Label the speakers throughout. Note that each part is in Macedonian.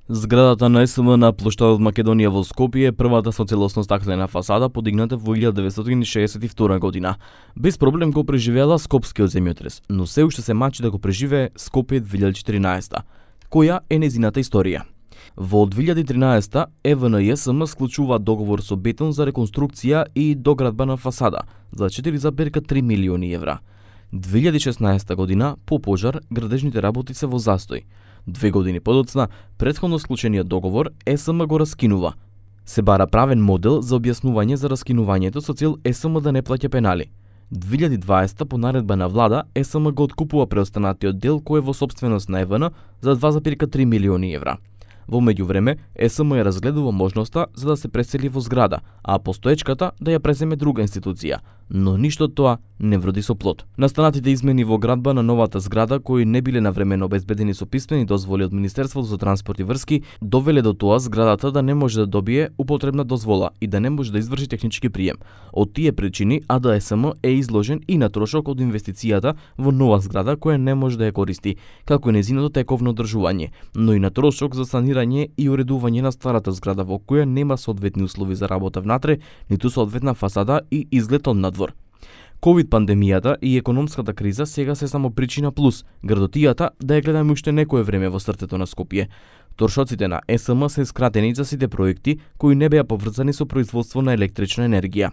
Speaker 1: Зградата на СМ на плоштадот Македонија во Скопје е првата со целосно стаклена фасада подигната во 1962 година. Без проблем го преживеала скопскиот земјотрес, но се уште се мачи да го преживее Скопје 2014. Која е незината историја? Во 2013 ЕВН-СМ склучува договор со Бетон за реконструкција и доградба на фасада за 4,3 милиони евра. 2016 година, по пожар, градежните работи се во застој. 2 години подоцна, претходно склучениот договор СМ го раскинува. Се бара правен модел за објаснување за раскинувањето со цел СМ да не плаќа пенали. 2020 по наредба на влада СМ го откупува преостанатиот дел кој е во сопственост на ЕВН за 2,3 милиони евра. Во меѓувреме, СМ ја разгледува можноста за да се пресели во зграда, а постоечката да ја преземе друга институција, но ништо од тоа не вроди со плод. Настанатите измени во градба на новата зграда, кои не биле навремено обезбедени со писмени дозволи од Министерството за транспорт и врски, довеле до тоа зградата да не може да добие употребна дозвола и да не може да изврши технички прием. Од тие причини АДСМ е изложен и на трошок од инвестицијата во нова зграда која не може да ја користи, како и незиното тековно одржување, но и на трошок за санирање и уредување на старата зграда во која нема соодветни услови за работа внатре, ниту соодветна фасада и изглед од надвор. Ковид пандемијата и економската криза сега се само причина плюс градотијата да ја гледаме уште некое време во срцето на Скопје. Трошоците на СМ се скратени за сите проекти кои не беа поврзани со производство на електрична енергија.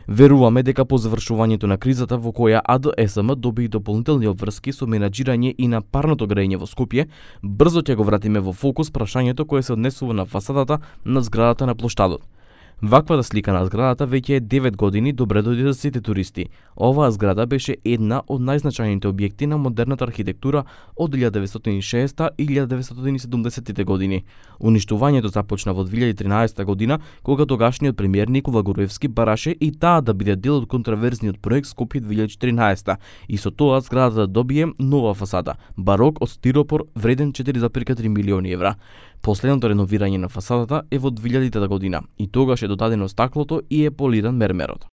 Speaker 1: Веруваме дека по завршувањето на кризата во која АДСМ доби дополнителни обврски со менаџирање и на парното грејење во Скопје, брзо ќе го вратиме во фокус прашањето кое се однесува на фасадата на зградата на плоштадот. Ваквата слика на зградата веќе е 9 години добре дојде за сите туристи. Оваа зграда беше една од најзначајните објекти на модерната архитектура од 1960 и 1970 години. Уништувањето започна во 2013 година, кога тогашниот премиер Никола Груевски бараше и таа да биде дел од контраверзниот проект Скопје 2014 и со тоа зградата да добие нова фасада, барок од стиропор вреден 4,3 милиони евра. Последното реновирање на фасадата е во 2000 година и тогаш е додадено стаклото и е полиран мермерот.